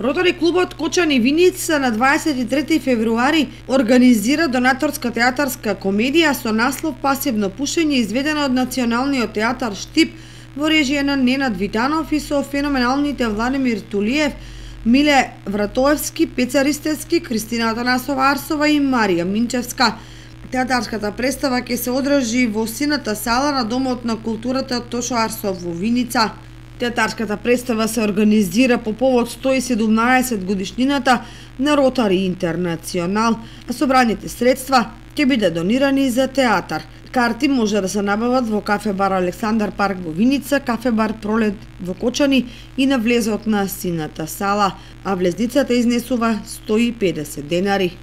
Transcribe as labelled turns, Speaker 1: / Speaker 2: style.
Speaker 1: Ротари клубот Кочани Виница на 23 февруари организира донаторска театарска комедија со наслов Пасивно пушење, изведена од Националниот театар Штип во режија на Ненад Витанов и со феноменалните Владимир Тулиев, Миле Вратоевски, Пеца Ристевски, Кристина Атанасова Арсова и Марија Минчевска. Театарската представа ќе се одржи во сината сала на Домот на културата Тошо Арсов во Виница. Театарската представа се организира по повод 117 годишнината на Ротари Интернационал, а собраните средства ќе биде донирани за театар. Карти може да се набават во кафе бар Александар парк во Виница, кафе бар Пролет во Кочани и на влезот на сината сала, а влезницата изнесува 150 денари.